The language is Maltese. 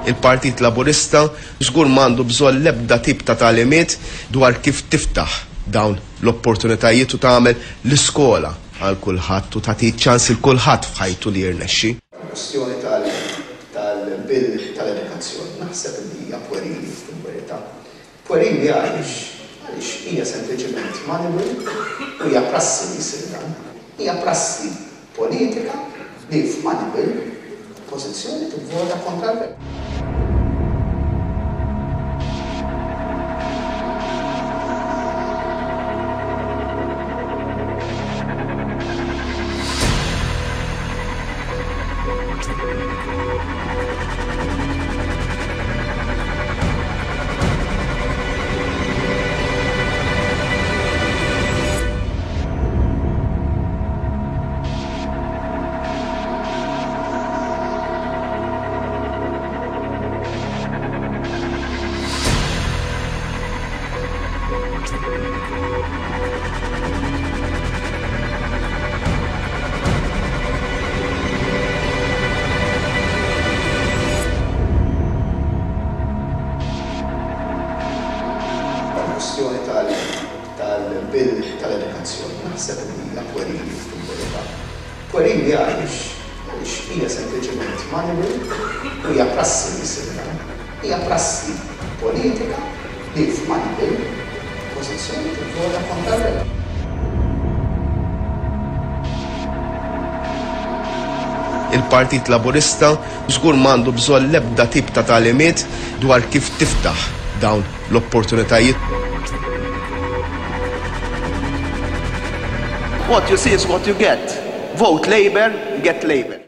Il-Partit Laburista żgur m'għandu bżonn l-ebda tip ta' tagħlimiet dwar kif tiftaħ dawn l-opportunitajiet u tagħmel l-iskola għal kulħadd u tagħti ċ-ċans lil kulħadd f'ħajtu li jirnexxi. Il-kwistjoni tal-Bill tal-Edukazzjoni naħseb li hija pwerili fil-verità. Pwerili għaliex? Għaliex hija sempliċement money will u hija prassi li jsir dan. Hija prassi politika li f'money will oppożizzjoni tivvota kontra l-gvern. Il-kwistjoni tal-Bill tal-Edukazzjoni naħseb li hija pwerili fil-verità. Pwerili għaliex? Għaliex hija sempliċement money will u hija prassi li jsir dan. Hija prassi politika li f'money bill oppożizzjoni tivvota kontra l-gvern. Il-Partit Laburista żgur m'għandu bżonn l-ebda tip ta' tagħlimiet dwar kif tiftaħ dawn l-opportunitajiet. What you see is what you get. Vote Labour, get Labour.